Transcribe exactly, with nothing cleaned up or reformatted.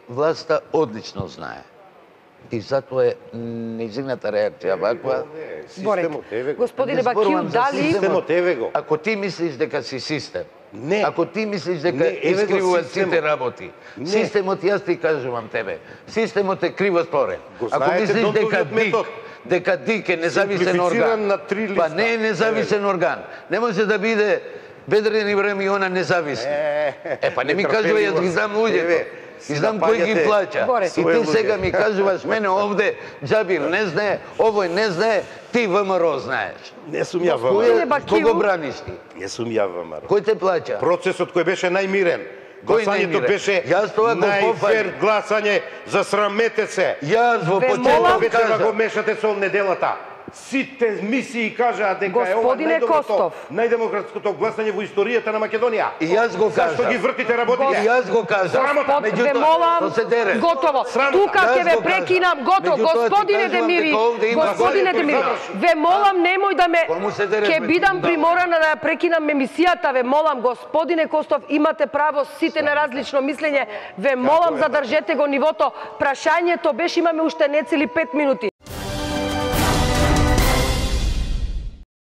власта одлично знае. И затоа е нејзината реакција ваква. Системот еве го. Господине Бакију, дали... Системот еве го. Ако ти мислиш дека си систем, Не. ако ти мислиш дека Не, еве го искривуваат системот. сите работи, Не. системот, јас ти кажувам тебе, системот е криво створен. Го Ако знаете мислиш дека Донтовиот ДИК, метод. дека ДИК е независен Симплифициран орган, на три па листа. не е независен орган. Не може да биде Бедрен Ибрамиона независен. Е, па не ми кажува, јас ги знам луѓето. И знам кој ги плаќа. Горе. И ти сега ми кажуваш мене овде, Џабир не знае, овој не знае, ти ВМРО знаеш. Не сум ја Господине ВМРО. Бакију. Кого браниш ти? Не сум ја ВМРО. Кој те плаќа? Процесот кој беше најмирен. Кој Гласањето најмирен? беше Јас тоа го најфер пофалив. гласање, засрамете се. Јас во Ве почеток молам- Вечера го кажа, мешате со неделата. Сите мисии кажаа дека е ова Господине најдоброто, Костов. најдемократското гласање во историјата на Македонија. и јас го Зашто кажа. ги вртите И работите? јас го кажа. Срамота. Ве молам, то се дере. готово. Срамота. Тука Јас ќе ве го кажа. прекинам, готово. Меѓутоа ти Господине кажувам Демири, дека овде има господине голем Демири, заврши. ве молам немој да ме Кому се дере, ќе ме бидам ти приморана да ја прекинам емисијата, ве молам, господине Костов, имате право сите на различно мислење. Ве молам, задржете го нивото. Прашањето беше, имаме уште нецели пет минути.